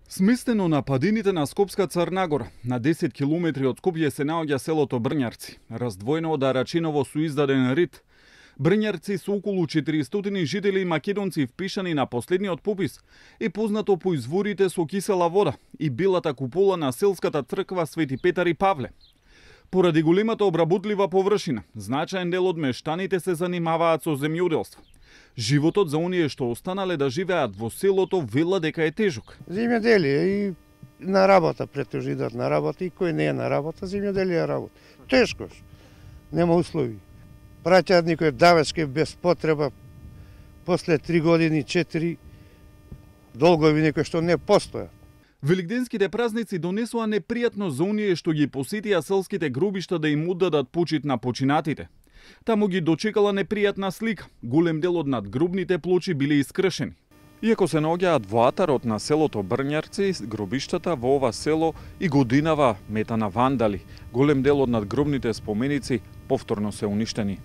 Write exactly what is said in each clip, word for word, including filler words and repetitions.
Сместено на падините на Скопска Црнагора, на десет километри од Скопје се наоѓа селото Брњарци, раздвоено од Арачиново со издаден рид. Брњарци со околу четиристотини жители и македонци впишани на последниот попис е познато по изворите со кисела вода и белата купола на селската црква Свети Петар и Павле. Поради големата обработлива површина, значаен дел од мештаните се занимаваат со земјоделство. Животот за оние што останале да живеат во селото вела дека е тежок. Земјоделие и на работа, претежно идат на работа, и кој не е на работа, земјоделие работа. Тешко, нема услови. Праќаат никој давачки без потреба, после три години, четири, долгови некои што не постојат. Великденските празници донесоа непријатно за оние што ги посетија селските гробишта да им оддадат почит на починатите. Таму ги дочекала непријатна слика. Голем дел од надгробните плочи биле искршени. Иако се наоѓаат во атарот на селото Брњарци, гробиштата во ова село и годинава мета на вандали. Голем дел од надгробните споменици повторно се уништени.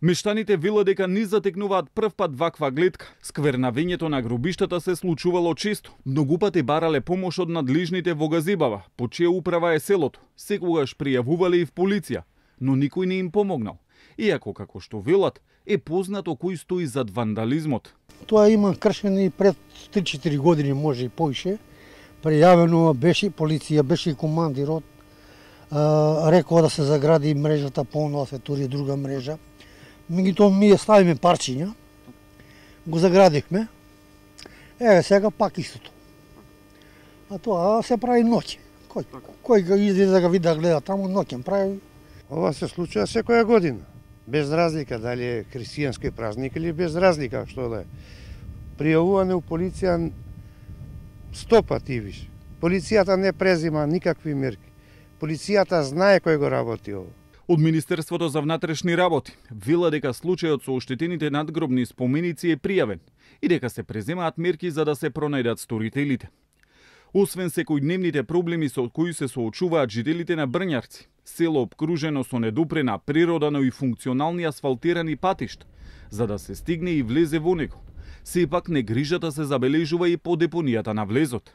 Мештаните вела дека не затекнуваат прв пат ваква гледка. Сквернавењето на гробиштата се случувало често. Многу пати барале помош од надлежните во Газибава, по чија управа е селото. Секогаш пријавувале и в полиција, но никој не им помогнал. Иако, како што велат, е познато кој стои зад вандализмот. Тоа има кршени пред три-четири години, може и повише. Пријавено беше полиција, беше и командирот. Рекоа да се загради мрежата, понова се тури друга мрежа. Меѓутоа ми ја ставиме парчиња, го заградихме. Еве сега пак истото. А тоа се прави ноќе. Кој кој го излезе да го види да гледа таму, ноќен прави. Ова се случува секоја година. Без разлика дали е христијански празник или без разлика што да е. Пријавуване у полиција сто пати више. Полицијата не презима никакви мерки. Полицијата знае кој го работи ово. Од Министерството за внатрешни работи вела дека случајот со оштетените надгробни споменици е пријавен и дека се преземаат мерки за да се пронајдат сторителите. Освен секојдневните проблеми со кои се соочуваат жителите на Брњарци, село обкружено со недопрена природа, но и функционални асфалтирани патишта, за да се стигне и влезе во него, сепак негрижата се забележува и по депонијата на влезот.